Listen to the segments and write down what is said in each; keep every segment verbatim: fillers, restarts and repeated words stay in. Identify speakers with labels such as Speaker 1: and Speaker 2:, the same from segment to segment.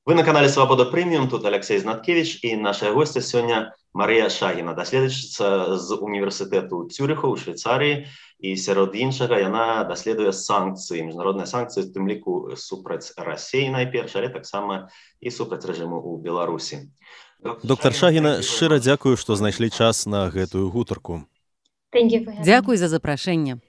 Speaker 1: Вы на канале Свобода Премиум, тут Алексей Знаткевич, и наша гостья сегодня Мария Шагина, доследчица з університету Цюріху у Швейцарії, і серед іншого вона досліджує санкції, міжнародні санкції, в тим ліку супроць Росії найперше, але так само і супроць режиму у Білорусі.
Speaker 2: Доктор Шагіна, шчыра дзякую, што знайшлі час на гэтую гутарку.
Speaker 3: Дзякуй за запрашэнне.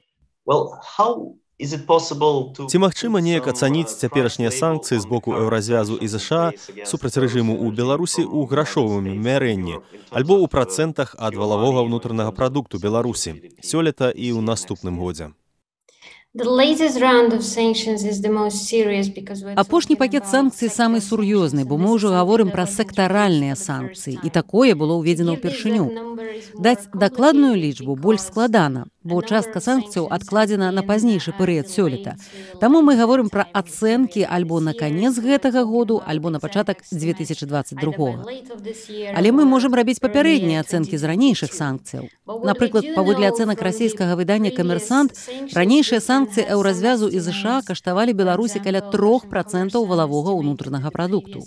Speaker 1: Well, how is it possible to...
Speaker 2: Ці магчыма неяк ацаніць цяперашнія санкцыі з боку Еўразвязу і ЗША супраць рэжыму ў Беларусі ў грашовым мярэнні, альбо ў працэнтах ад валавога ўнутранага прадукту Беларусі сёлета і ў наступным годзе?
Speaker 3: Апошні пакет санкцый самы сур'ёзны, бо мы ўжо гаворым пра сектаральныя санкцыі, і такое было ўведзена ўпершыню. Даць дакладную лічбу больш складана, бо частка санкцыяў адкладзена на пазнейшы перыяд сёлета. Таму мы гаворым пра ацэнкі альбо на канец гэтага году, альбо на пачатак дзве тысячы дваццаць другога. Але мы можам рабіць папярэднія ацэнкі з ранейшых санкцыяў. Напрыклад, паводле ацэнак расійскага выдання «Камерсант», ранейшыя санкцыі Еўразвязу і ЗША каштавалі Беларусі каля трох працэнтаў валавога ўнутранага прадукту.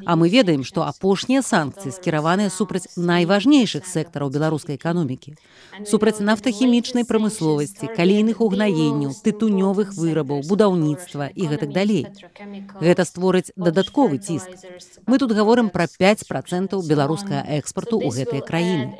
Speaker 3: А мы ведаем, што апошнія санкцыі скіраваныя супраць найважнейшых сектараў беларускай эканомікі. Супраць нафтахімічнай прамысловасці, калійных угнаенняў, тытунёвых вырабаў, будаўніцтва і гэтак далей. Гэта створыць дадатковы ціск. Мы тут гаворым пра пяць працэнтаў беларускага экспарту ў гэтыя краіны.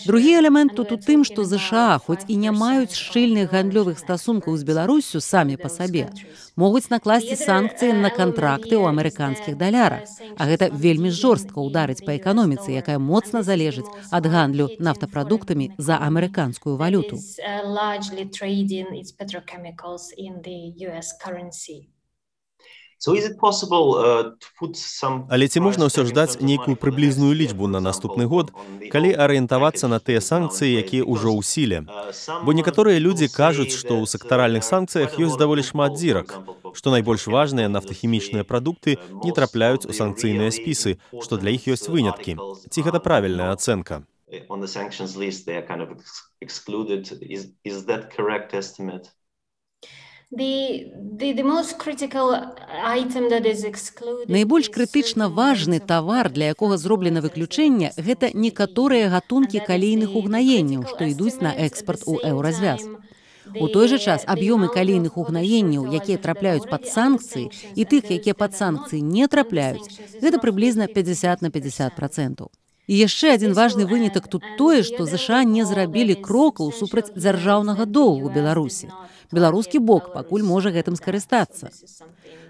Speaker 3: Другі элемент тут у тым, што ЗША, хоць і не маюць шчыльных гандлёвых стасункаў з Беларуссю самі па сабе, могуць накласці санкцыі на кантракты ў амерыканскіх далярах. А гэта вельмі жорстка ўдарыць па эканоміцы, якая моцна залежыць ад гандлю нафтапрадуктамі за амерыканскую валюту.
Speaker 1: So is it possible, uh, to put some...
Speaker 2: Але ці можна ўсё ж даць нейкую прыблізную лічбу на наступны год, калі арыентавацца на тыя санкцыі, якія ўжо ў сіле? Бо некаторыя людзі кажуць, што ў сектаральных санкцыях ёсць даволі шмат дзірак, што найбольш важныя нафтахімічныя прадукты не трапляюць у санкцыйныя спісы, што для іх ёсць выняткі. Ці гэта правільная ацэнка?
Speaker 1: On the sanctions list, they are kind of excluded. Is, is that correct estimate?
Speaker 3: Найбольш крытычна важны тавар, для якога зроблена выключэнне, гэта некаторыя гатункі калійных угнаенняў, што ідуць на экспарт у Еўразвяз. У той жа час аб'ёмы калійных угнаенняў, якія трапляюць пад санкцыі, і тых, якія пад санкцыі не трапляюць, гэта прыблізна пяцьдзясят на пяцьдзясят працэнтаў. І яшчэ адзін важны вынятак тут тое, што ЗША не зрабілі крокаў супраць дзяржаўнага доўгу Беларусі. Беларускі бок пакуль можа гэтым скарыстацца.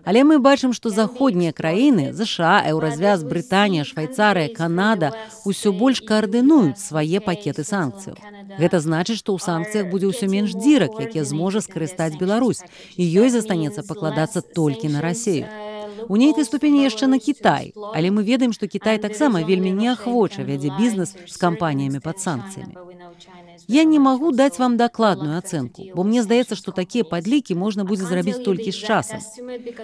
Speaker 3: Але мы бачым, што заходнія краіны, ЗША, Еўразвяз, Брытанія, Швайцарыя, Канада усё больш каардынуюць свае пакеты санкцыяў. Гэта значыць, што ў санкцыях будзе ўсё менш дзірак, якія зможа скарыстаць Беларусь, і ёй застанецца пакладацца толькі на Расію. У нейкай ступені яшчэ на Кітай, але мы ведаем, што Кітай таксама вельмі неахвоча вядзе бізнес з кампаніямі пад санкцыямі. Я не магу даць вам дакладную ацэнку, бо мне здаецца, што такія падлікі можна будзе зрабіць толькі з часам.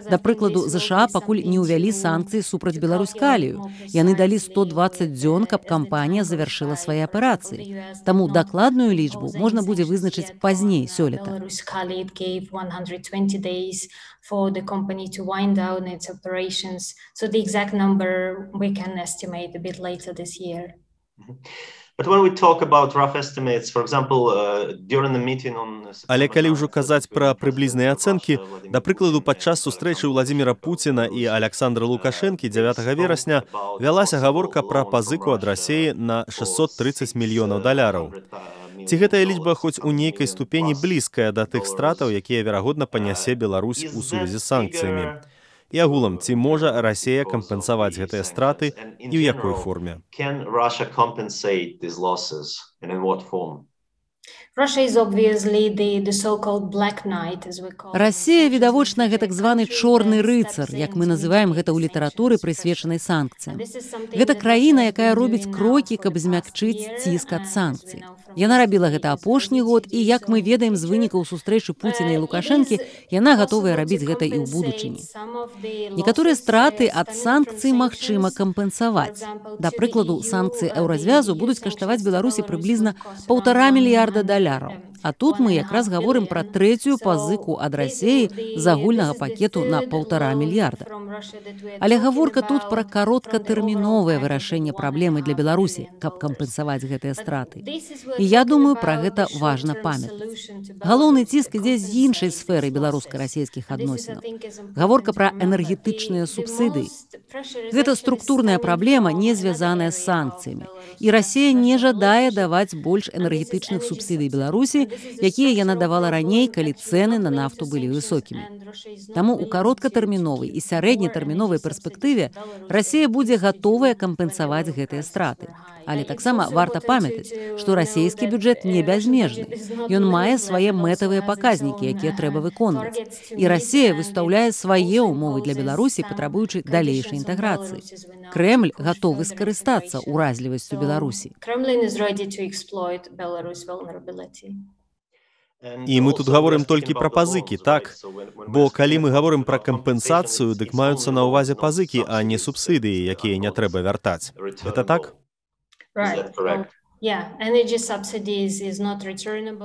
Speaker 3: Да прыкладу, ЗША пакуль не ўвялі санкцыі супраць Беларуськалію. Яны далі сто дваццаць дзён, каб кампанія завяршыла свае аперацыі. Таму дакладную лічбу можна будзе вызначыць пазней сёлета.
Speaker 4: For the company to wind down its operations. So the exact number we can estimate a bit later this year.
Speaker 1: But when we talk about rough estimates, for example, uh, during the meeting on...
Speaker 2: Але калі ўжо казаць пра прыблізныя ацэнкі, да прыкладу, падчас сустрэчы Владзіміра Пуціна і Аляксандра Лукашэнкі дзявятага верасня вялася гаворка пра пазыку ад Расіі на шэсцьсот трыццаць мільёнаў даляраў. Ці гэтая лічба хоць у нейкай ступені блізкая да тых стратаў, якія, верагодна, панясе Беларусь у сувязі з санкцыямі? І агулам, ці можа Расія кампенсаваць гэтыя страты і ў якой форме?
Speaker 3: Расія, відавочна, гэта так званы чорны рыцар, як мы называем гэта ў літаратуры, прысвечанай санкцыям. Гэта краіна, якая робіць крокі, каб змякчыць ціск ад санкцый. Яна рабіла гэта апошні год, і, як мы ведаем з вынікаў сустрэчы Пуціна і Лукашэнкі, яна гатовая рабіць гэта і ў будучыні. Некаторыя страты ад санкцый магчыма кампенсаваць. Да прыкладу, санкцыі Еўразвязу будуць каштаваць Беларусі прыблізна паўтара мільярда даляраў. А тут мы якраз гаворым пра трэцюю пазыку ад Расіі з агульнага пакету на паўтара мільярда. Але гаворка тут пра кароткатэрміновае вырашэнне праблемы для Беларусі, каб кампенсаваць гэтыя страты. І я думаю, пра гэта важна памятаць. Галоўны ціск ідзе з іншай сферы беларуска-расійскіх адносінаў. Гаворка пра энергетычныя субсідыі. Гэта структурная праблема, не звязаная з санкцыямі. І Расія не жадае даваць больш энергетычных субсідый Беларусі, якія яна давала раней, калі цэны на нафту былі высокімі. Таму ў кароткатэрміновай і сярэднетэрміновай перспектыве Расія будзе гатовая кампенсаваць гэтыя страты. Але таксама варта памятаць, што расійскі бюджэт не бязмежны. Ён мае свае мэтавыя паказнікі, якія трэба выконваць. І Расія выстаўляе свае ўмовы для Беларусі, патрабуючы далейшай інтэграцыі. Крэмль гатовы скарыстацца ўразлівасцю Беларусі.
Speaker 2: І мы тут гаворым толькі пра пазыкі, так? Бо калі мы гаворым пра кампенсацыю, дык маюцца на ўвазе пазыкі, а не субсідыі, якія не трэба вяртаць. Гэта так?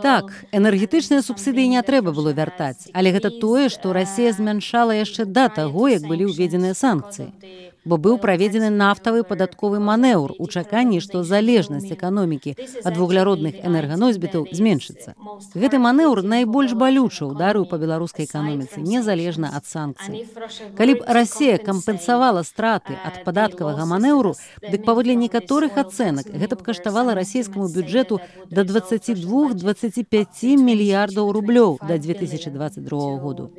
Speaker 3: Так, энергетычныя субсідыі не трэба было вяртаць, але гэта тое, што Расія змяншала яшчэ да таго, як былі ўведзеныя санкцыі. Бо быў праведзены нафтавы падатковы манеўр у чаканні, што залежнасць эканомікі ад вугляродных энерганосьбітаў зменшыцца. Гэты манеўр найбольш балюча ўдарыў па беларускай эканоміцы, незалежна ад санкцый. Калі б Расія кампенсавала страты ад падаткавага манеўру, дык паводле некаторых ацэнак гэта б каштавала расійскаму бюджэту да дваццаці двух да дваццаці пяці мільярдаў рублёў да дзве тысячы дваццаць другога году.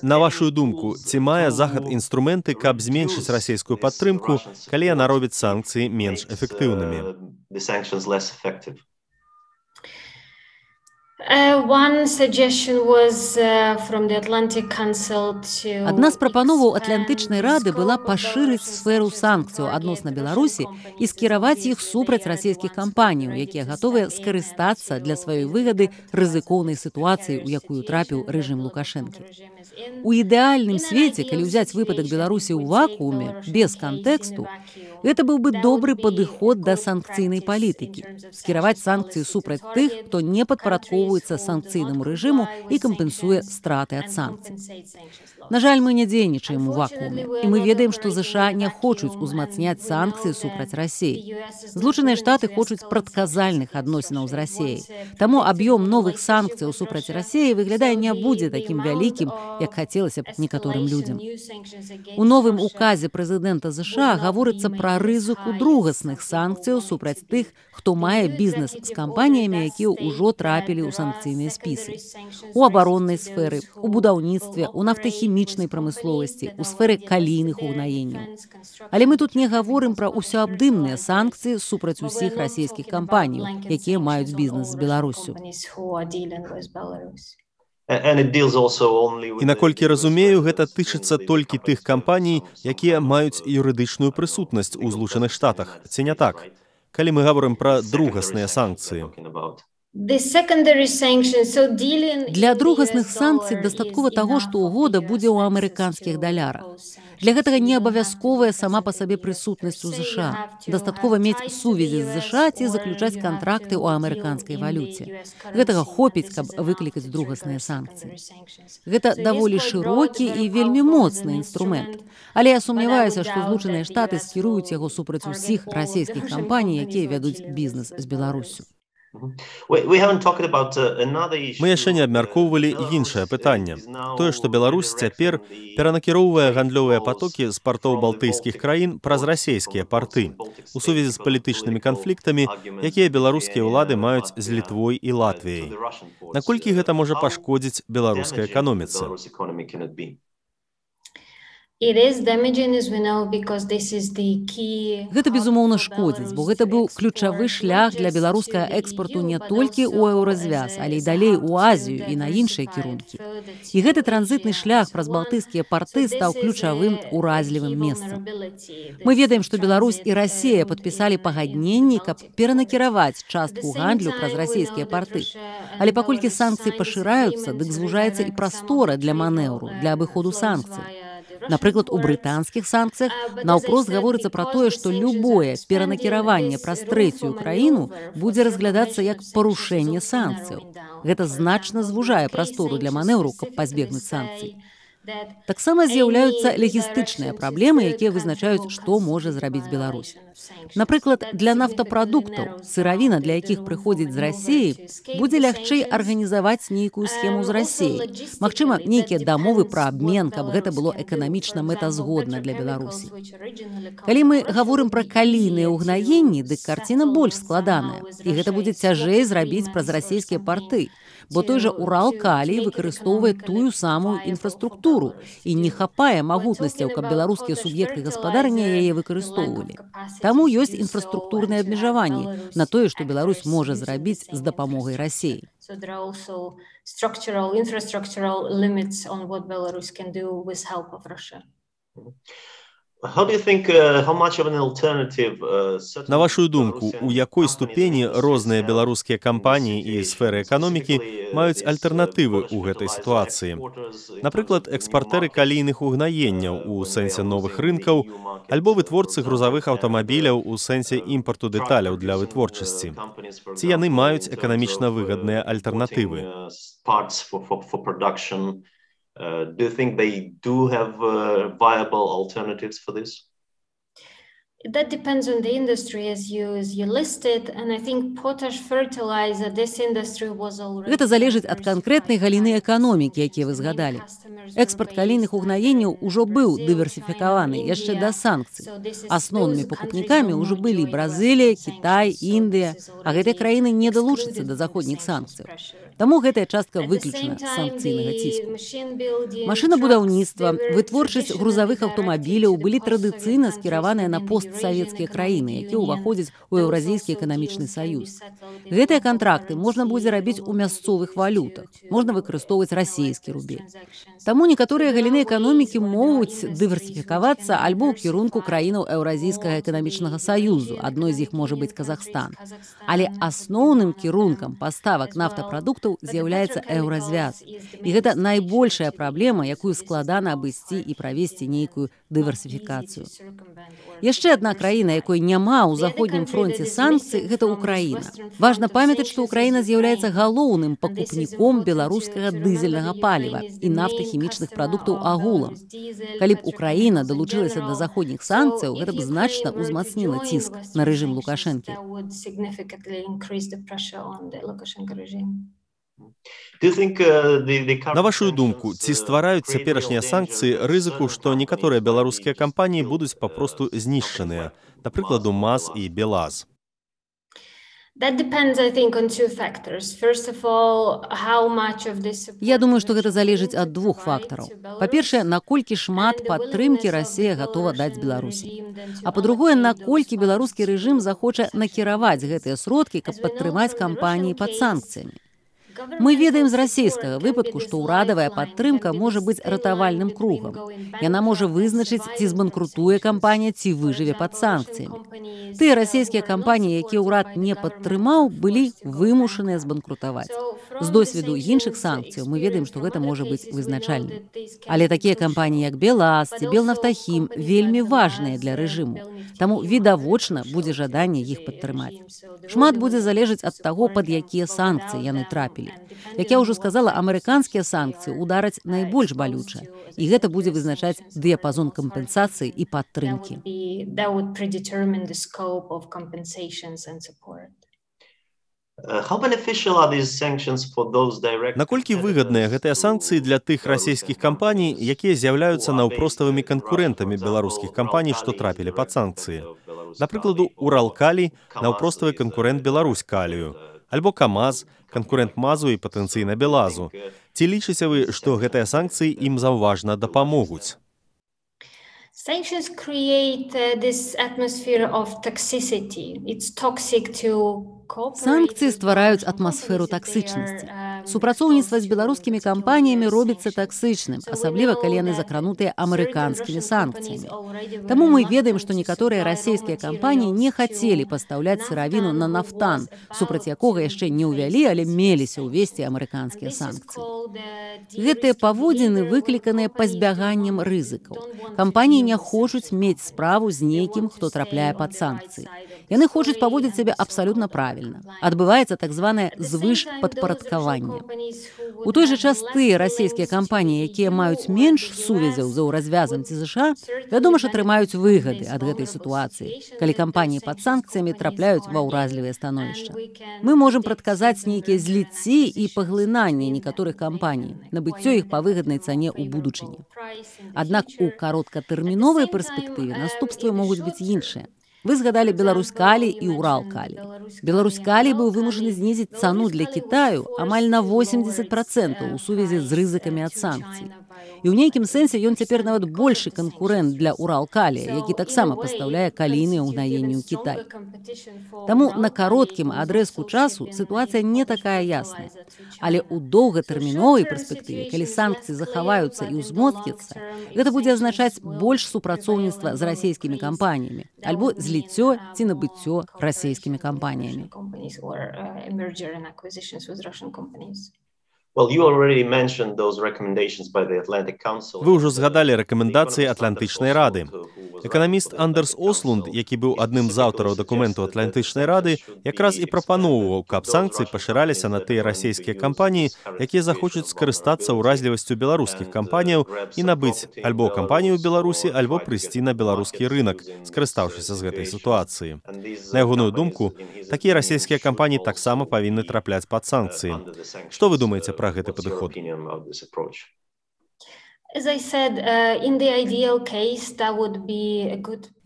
Speaker 2: На вашу думку, ці мае Захад інструменты, каб зменшыць расійскую падтрымку, калі яна робіць санкцыі менш эфектыўнымі?
Speaker 3: Адна з прапановаў Атлантычнай рады была пашырыць сферу санкцыяў адносна Беларусі і скіраваць іх супраць расійскіх кампаніяў, якія гатовыя скарыстацца для сваёй выгады рызыкоўнай сітуацыі, у якую трапіў рэжым Лукашэнкі. У ідэальным свеце, калі ўзяць выпадак Беларусі ў вакууме, без кантэксту, гэта быў бы добры падыход да санкцыйнай палітыкі. Скіраваць санкцыі супраць тых, хто не падпарадкоўваецца санкцыйнаму рэжыму і кампенсуе страты ад санкцый. На жаль, мы не дзейнічаем у вакууме, і мы ведаем, што ЗША не хочуць узмацняць санкцыі супраць Расіі. Злучаныя Штаты хочуць прадказальных адносінаў з Расіяй. Таму аб'ём новых санкцыяў супраць Расіі выглядае не будзе такім вялікім, як хацелася б некаторым людзям. У новым указе прэзідэнта ЗША гаворыцца пра рызыку другасных санкцыяў супраць тых, хто мае бізнес з кампаніямі, якія ўжо трапілі ў санкцыйныя спісы. У абароннай сферы, у будаўніцтве, у нафтахімічнай прамысловасці, у сферы калійных угнаенняў. Але мы тут не гаворым пра ўсеабдымныя санкцыі супраць усіх расійскіх кампаніяў, якія маюць бізнес з Беларуссю.
Speaker 2: І наколькі разумею, гэта тычыцца толькі тых кампаній, якія маюць юрыдычную прысутнасць у Злучаных Штатах, ці не так? Калі мы гаворым пра другасныя санкцыі.
Speaker 3: Для другасных санкцый дастаткова таго, што угода будзе ў амерыканскіх далярах. Для гэтага не абавязковая сама па сабе прысутнасць у ЗША. Дастаткова мець сувязі з ЗША ці заключаць кантракты ў амерыканскай валюце. Гэтага хопіць, каб выклікаць другасныя санкцыі. Гэта даволі шырокі і вельмі моцны інструмент. Але я сумняваюся, што Злучаныя Штаты скіруюць яго супраць усіх расійскіх кампаній, якія вядуць бізнес з Беларуссю.
Speaker 2: Мы яшчэ не абмяркоўвалі іншае пытанне. Тое, што Беларусь цяпер перанакіроўвае гандлёвыя патокі з партоў балтыйскіх краін праз расійскія парты у сувязі з палітычнымі канфліктамі, якія беларускія ўлады маюць з Літвой і Латвіяй. Наколькі гэта можа пашкодзіць беларускай эканоміцы?
Speaker 3: Гэта, безумоўна, шкодзіць, бо гэта быў ключавы шлях для беларускага экспарту не толькі ў еўразвяз, але і далей у Азію і на іншыя кірункі. І гэты транзітны шлях праз балтыйскія парты стаў ключавым уразлівым месцам. Мы ведаем, што Беларусь і Расія падпісалі пагадненні, каб перанакіраваць частку гандлю праз расійскія парты. Але паколькі санкцыі пашыраюцца, дык звужаецца і прастора для манеўру, для абыходу санкцый. Напрыклад, у брытанскіх санкцыях наўпрост гаворыцца пра тое, што любое перанакіраванне праз трэцюю краіну будзе разглядацца як парушэнне санкцыяў. Гэта значна звужае прастору для манеўру, каб пазбегнуць санкцый. Таксама з'яўляюцца лагістычныя праблемы, якія вызначаюць, што можа зрабіць Беларусь. Напрыклад, для нафтапрадуктаў, сыравіна, для якіх прыходзіць з Расіі, будзе лягчэй арганізаваць нейкую схему з Расіяй. Магчыма, нейкія дамовы пра абмен, каб гэта было эканамічна мэтазгодна для Беларусі. Калі мы гаворым пра калійныя ўгнаенні, дык карціна больш складаная, і гэта будзе цяжэй зрабіць праз расійскія парты. Бо той жа Урал-Калій выкарыстоўвае тую самую інфраструктуру і не хапае магутнасцяў, каб беларускія суб'екты гаспадарання яе выкарыстоўвалі. Таму ёсць інфраструктурныя абмежаванні на тое, што Беларусь можа зрабіць з дапамогай Расіі.
Speaker 2: На вашу думку, у якой ступені розныя беларускія кампаніі і сферы эканомікі маюць альтэрнатывы ў гэтай сітуацыі? Напрыклад, экспартэры калійных угнаенняў у сэнсе новых рынкаў, альбо вытворцы грузавых аўтамабіляў у сэнсе імпарту дэталяў для вытворчасці. Ці яны маюць эканамічна выгадныя альтэрнатывы?
Speaker 1: Uh, do you think they do have uh, viable alternatives for this?
Speaker 4: That depends on the industry, as you, as you listed, and I think potash fertilizer, this industry was already...
Speaker 3: Гэта залежыць ад канкрэтнай галіны эканомікі, якія вы згадалі. Экспарт калійных угнаенняў ужо быў дыверсіфікаваны яшчэ да санкцый. Асноўнымі пакупнікамі ўжо былі Бразылія, Кітай, Індыя, а гэтыя краіны не далучацца да заходніх санкцыяў. Таму гэтая частка выключана з санкцыйнага ціску. Машынабудаўніцтва, вытворчасць грузавых аўтамабіляў былі традыцыйна скіраваныя на постсавецкія краіны, якія ўваходзяць у Еўразійскі эканамічны саюз. Гэтыя кантракты можна будзе рабіць у мясцовых валютах, можна выкарыстоўваць расійскі рубель. Таму некаторыя галіны эканомікі могуць дыверсіфікавацца альбо ў кірунку краінаў Еўразійскага эканамічнага саюзу, адной з іх можа быць Казахстан. Але асноўным кірункам паставак нафтапрадуктаў з'яўляецца еўразвяз. І гэта найбольшая праблема, якую складана абысці і правесці нейкую дыверсіфікацыю. Яшчэ адна краіна, якой няма ў заходнім фронце санкцый, гэта Украіна. Важна памятаць, што Украіна з'яўляецца галоўным пакупніком беларускага дызельнага паліва і нафтахімічных прадуктаў агулам. Калі б Украіна далучылася да заходніх санкцыяў, гэта б значна ўзмацніла ціск на рэжым Лукашэнкі.
Speaker 2: На вашу думку, ці ствараюць цяперашнія санкцыі рызыку, што некаторыя беларускія кампаніі будуць папросту знішчаныя, напрыкладу МАЗ і БелАЗ?
Speaker 3: Я думаю, што гэта залежыць ад двух фактараў. Па-першае, наколькі шмат падтрымкі Расія гатова даць Беларусі. А па-другое, наколькі беларускі рэжым захоча накіраваць гэтыя сродкі, каб падтрымаць кампаніі пад санкцыямі. Мы ведаем з расійскага выпадку, што ўрадавая падтрымка можа быць ратавальным кругам. Яна можа вызначыць, ці збанкрутуе кампанія, ці выжыве пад санкцыямі. Тыя расійскія кампаніі, якія ўрад не падтрымаў, былі вымушаныя збанкрутаваць. З досведу іншых санкцыяў мы ведаем, што гэта можа быць вызначальным. Але такія кампаніі, як БелАЗ ці Белнафтахім, вельмі важныя для рэжыму. Таму відавочна будзе жаданне іх падтрымаць. Шмат будзе залежаць ад таго, пад якія санкцыі яны трапілі. Як я ўжо сказала, амерыканскія санкцыі удараць найбольш балюча, і гэта будзе вызначаць дыяпазон кампенсацыі і падтрымкі.
Speaker 2: Наколькі выгадныя гэтыя санкцыі для тых расійскіх кампаній, якія з'яўляюцца наўпроставымі канкурэнтамі беларускіх кампаній, што трапілі пад санкцыі? Напрыкладу, Урал-Калій – наўпроставы канкурэнт Беларусь-Калію, альбо КамАЗ – канкурэнт МАЗу і патэнцыйна БелАЗу. Ці лічыце вы, што гэтыя санкцыі ім заўважна дапамогуць?
Speaker 4: Sanctions create uh, this atmosphere of toxicity. It's toxic to
Speaker 3: Санкцыі ствараюць атмасферу таксычнасці. Супрацоўніцтва з беларускімі кампаніямі робіцца таксычным, асабліва калі яны закранутыя амерыканскімі санкцыямі. Таму мы ведаем, што некаторыя расійскія кампаніі не хацелі пастаўляць сыравіну на нафтан, супраць якога яшчэ не ўвялі, але меліся ўвесці амерыканскія санкцыі. Гэтыя паводзіны выкліканыя пазбяганнем рызыкаў. Кампаніі не хочуць мець справу з нейкім, хто трапляе пад санкцыі. Яны хочуць паводзіць сябе абсалютна правільна. Адбываецца так званае звышпадпарадкаванне. У той жа час тыя расійскія кампаніі, якія маюць менш сувязяў з еўразвязам ці ЗША, вядома ж, атрымаюць выгады ад гэтай сітуацыі, калі кампаніі пад санкцыямі трапляюць ва ўразлівыя становішча. Мы можам прадказаць нейкія зліцці і паглынанні некаторых кампаній, набыццё іх па выгаднай цане ў будучыні. Аднак у кароткатэрміновай перспектыве наступствы могуць быць іншыя. Вы згадалі Беларусь-Калі і Урал-Калі. Беларусь-Калі быў вымушаны знізіць цану для Кітаю амаль на восемьдесят процентаў у сувязі з рызыкамі ад санкцый. І ў нейкім сэнсе ён цяпер нават большы канкурэнт для Урал-Калі, які таксама пастаўляе калійныя ўгнаенні ў Кітай. Таму на кароткім адрэзку часу сітуацыя не такая ясная. Але ў доўгатэрміновай перспектыве, калі санкцыі захаваюцца і ўзмоцняцца, гэта будзе азначаць больш супрацоўніцтва з расійскімі кампаніямі, альбо зліццё ці набыццё расійскімі кампаніямі.
Speaker 2: Вы ўжо згадалі рэкамендацыі Атлантычнай рады. Эканаміст Андерс Ослунд, які быў адным з аўтараў дакументу Атлантычнай рады, якраз і прапаноўваў, каб санкцыі пашыраліся на тыя расійскія кампаніі, якія захочуць скарыстацца ўразлівасцю беларускіх кампаніяў і набыць альбо кампанію ў Беларусі, альбо прыйсці на беларускі рынак, скарыстаўшыся з гэтай сітуацыі. На ягоную думку, такія расійскія кампаніі таксама павінны трапляць пад санкцыі. Што вы думаеце пра гэты падыход?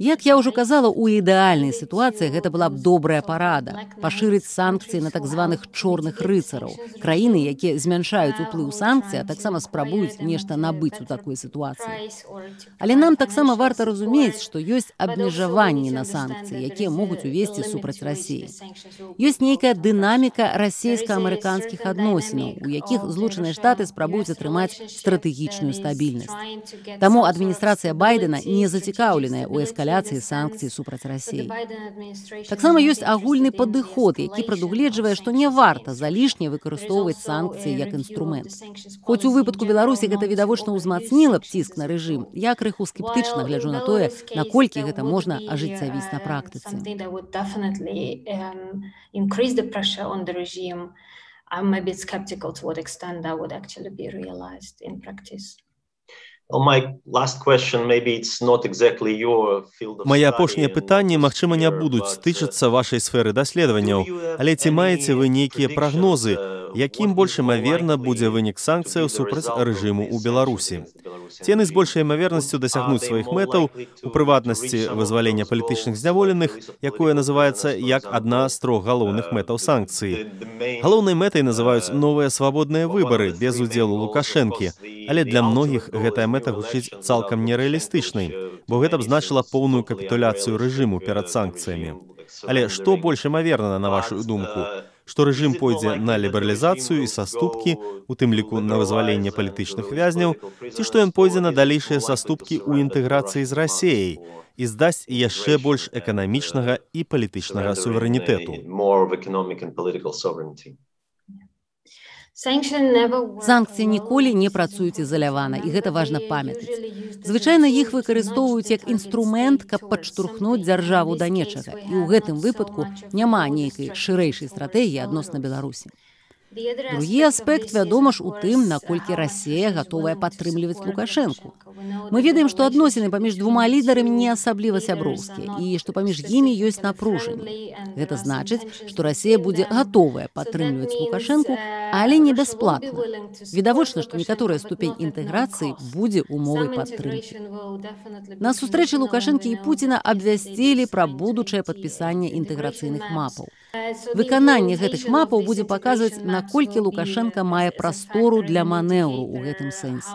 Speaker 3: Як я ўжо казала, у ідэальнай сітуацыі гэта была б добрая парада – пашырыць санкцыі на так званых чорных рыцараў, краіны, якія змяншаюць уплыў санкцый, а таксама спрабуюць нешта набыць у такой сітуацыі. Але нам таксама варта разумець, што ёсць абмежаванні на санкцыі, якія могуць увесці супраць Расіі. Ёсць нейкая дынаміка расійска-амерыканскіх адносінаў, у якіх Злучаныя Штаты спрабуюць атрымаць стратэгічную стабільнасць. Таму адміністрацыя Байдена не зацікаўленая ў эскаляцыі санкцый супраць Расіі. Таксама ёсць агульны падыход, які прадугледжвае, што не варта залішне выкарыстоўваць санкцыі як інструмент. Хоць у выпадку Беларусі гэта відавочна ўзмацніла б ціск на рэжым, я крыху скептычна гляджу на тое, наколькі гэта можна ажыццявіць на практыцы.
Speaker 4: I'm a bit skeptical to what extent that would actually be realized in practice.
Speaker 2: Мае апошнія пытанні, магчыма, не будуць тычыцца вашай сферы даследаванняў, але ці маеце вы нейкія прагнозы, якім больш імаверна будзе вынік санкцыяў супраць рэжыму ў Беларусі? Ці яны з большай імавернасцю дасягнуць сваіх мэтаў, у прыватнасці вызвалення палітычных зняволеных, якое называецца як адна з трох галоўных мэтаў санкцыі. Галоўнай мэтай называюць новыя свабодныя выбары без удзелу Лукашэнкі, але для многіх гэтая мэта гучыць цалкам нерэалістычнай, бо гэта б значыла поўную капітуляцыю рэжыму перад санкцыямі. Але што больш імаверна, на вашу думку? Што рэжым пойдзе на лібералізацыю і саступкі, у тым ліку на вызваленне палітычных вязняў, ці што ён пойдзе на далейшыя саступкі ў інтэграцыі з Расіяй і здасць яшчэ больш эканамічнага і палітычнага суверэнітэту?
Speaker 3: Санкцыі ніколі не працуюць ізалявана, і гэта важна памятаць. Звычайна іх выкарыстоўваюць як інструмент, каб падштурхнуць дзяржаву да нечага, і ў гэтым выпадку няма нейкай шырэйшай стратэгіі адносна Беларусі. Другі аспект, вядома ж, у тым, наколькі Расія гатовая падтрымліваць Лукашэнку. Мы ведаем, што адносіны паміж двума лідарамі не асабліва сяброўскія і што паміж імі ёсць напружанне. Гэта значыць, што Расія будзе гатовая падтрымліваць Лукашэнку, але не бясплатна. Відавочна, што некаторая ступень інтэграцыі будзе умовай падтрымкі. На сустрэчы Лукашэнкі і Пуціна абвясцілі пра будучае падпісанне інтэграцыйных мапаў. Выкананне гэтых мапаў будзе паказваць, на наколькі Лукашенка мае прастору для манеўру ў гэтым сэнсе.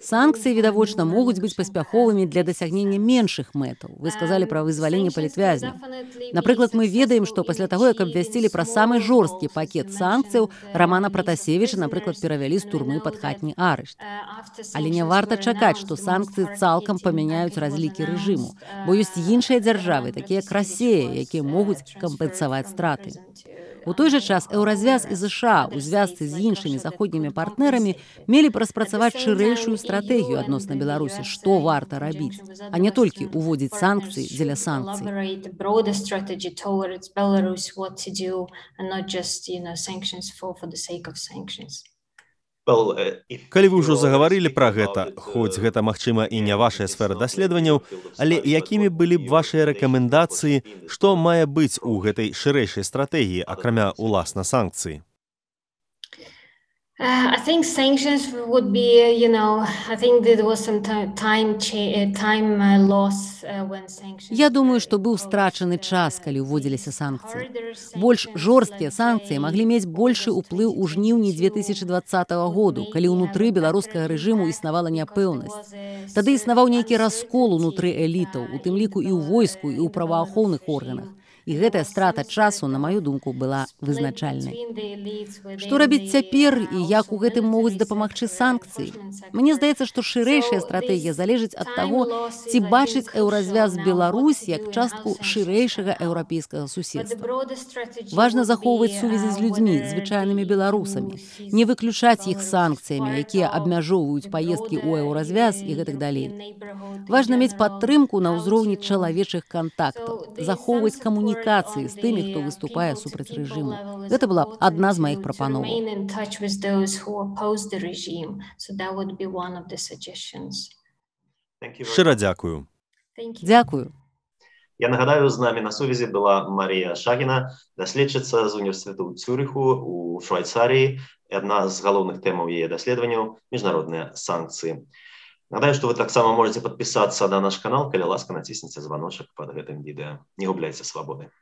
Speaker 3: Санкцыі, відавочна, могуць быць паспяховымі для дасягнення меншых мэтаў. Вы сказалі пра вызваленне палітвязняў. Напрыклад, мы ведаем, што пасля таго, як абвясцілі пра самы жорсткі пакет санкцыяў, Рамана Пратасевіча, напрыклад, перавялі з турмы пад хатні арышт. Але не варта чакаць, што санкцыі цалкам памяняюць разлікі рэжыму, бо ёсць іншыя дзяржавы, такія як Расія, якія могуць кампенсаваць страты. У той жа час Еўразвяз і ЗША ў звязцы з іншымі заходнімі партнерамі мелі б распрацаваць шырэйшую стратэгію адносна Беларусі, што варта рабіць, а не толькі ўводзіць санкцыі дзеля санкцый.
Speaker 2: Калі вы ўжо загаварылі пра гэта, хоць гэта, магчыма, і не вашая сфера даследаванняў, але якімі былі б вашыя рэкамендацыі, што мае быць у гэтай шырэйшай стратэгіі, акрамя уласна санкцый?
Speaker 4: Uh, I think sanctions would be, you know, I think there was some time time loss when sanctions.
Speaker 3: Я думаю, што быў страчаны час, калі ўводзіліся санкцыі. Больш жорсткія санкцыі маглі мець большы ўплыў у жніўні две тысячы дваццатага году, калі ўнутры беларускага рэжыму існавала няпэўнасць. Тады існаваў нейкі раскол унутры элітаў, у тым ліку і ў войску, і ў праваахоўных органах. І гэтая страта часу, на маю думку, была вызначальнай. Што рабіць цяпер і як у гэтым могуць дапамагчы санкцыі? Мне здаецца, што шырэйшая стратэгія залежыць ад таго, ці бачыць Еўразвяз Беларусь як частку шырэйшага еўрапейскага суседства. Важна захоўваць сувязі з людзьмі, звычайнымі беларусамі, не выключаць іх санкцыямі, якія абмяжоўваюць паездкі ў Еўразвяз і гэтак далей. Важна мець падтрымку на ўзроўні чалавечых кантактаў, захоўваць камунікацыю з тымі, хто выступае супраць рэжыму. Гэта была адна з маіх прапановаў.
Speaker 2: Шчыра дзякую.
Speaker 3: Дзякую.
Speaker 1: Я нагадаю, з намі на сувязі была Марія Шагіна, даследчыца з універсітэту ў Цюрыху у Швайцарыі. Адна з галоўных тэмаў яе даследаванняў – міжнародныя санкцыі. Нагадаю, што вы таксама можаце падпісацца на наш канал, калі ласка, націсніце званочак пад гэтым відэа. Не губляйце свабоды.